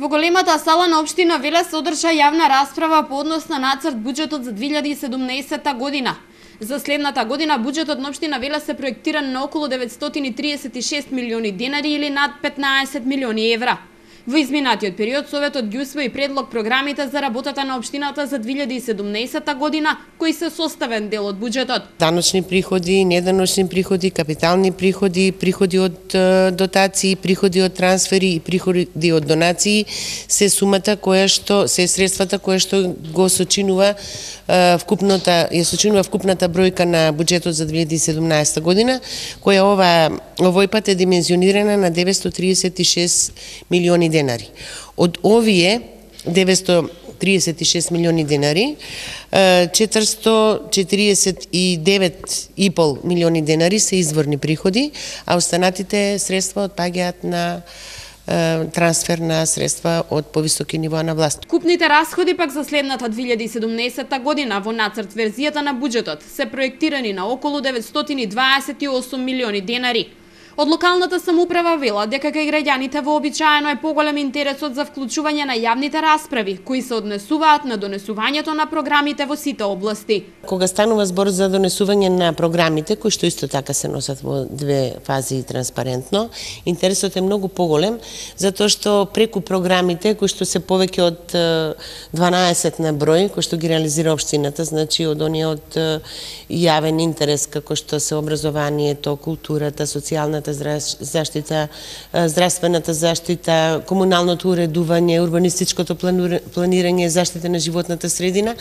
Во големата сала на општина Велес се одржа јавна расправа по однос на нацрт буџетот за 2017 година. За следната година буџетот на општина Велес се проектиран на околу 936 милиони денари или над 15 милиони евра. Во изминатиот период Советот ги усвои предлог програмите за работата на општината за 2017 година, кои се составен дел од буџетот. Даночни приходи, неданочни приходи, капитални приходи, приходи од дотации, приходи од трансфери и приходи од донации се сумата се средствата која што го сочинува вкупната бројка на буџетот за 2017 година, која овој пат е димензионирана на 936 милиони денари. Од овие 936 милиони денари, 449,5 милиони денари се изворни приходи, а останатите средства отпаѓаат на трансфер на средства од повисоки нивоа на власт. Купните расходи пак за следната 2017 година во нацрт верзијата на буџетот се проектирани на околу 928 милиони денари. Од локалната самоуправа вела дека кај граѓаните вообичаено е поголем интересот за вклучување на јавните расправи, кои се однесуваат на донесувањето на програмите во сите области. Кога станува збор за донесување на програмите, кои што исто така се носат во две фази транспарентно, интересот е многу поголем, затоа што преку програмите, кои што се повеќе од 12 на број, кои што ги реализира општината, значи од оние од јавен интерес, како што се образованието, културата, социјалната заштита, здравствената заштита, комуналното уредување, урбанистичкото планирање, заштита на животната средина.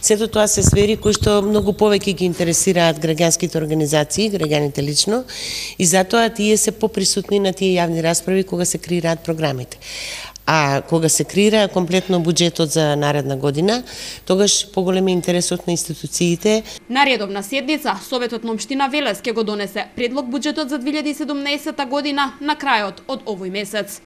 Сето тоа се сфери кои што многу повеќе ги интересираат граѓанските организации, граѓаните лично, и затоа тие се поприсутни на тие јавни расправи кога се креираат програмите. А кога се креира комплетно буџетот за наредна година, тогаш поголем е интересот на институциите. На редовна седница, Советот на општина Велес ќе го донесе предлог буџетот за 2017 година на крајот од овој месец.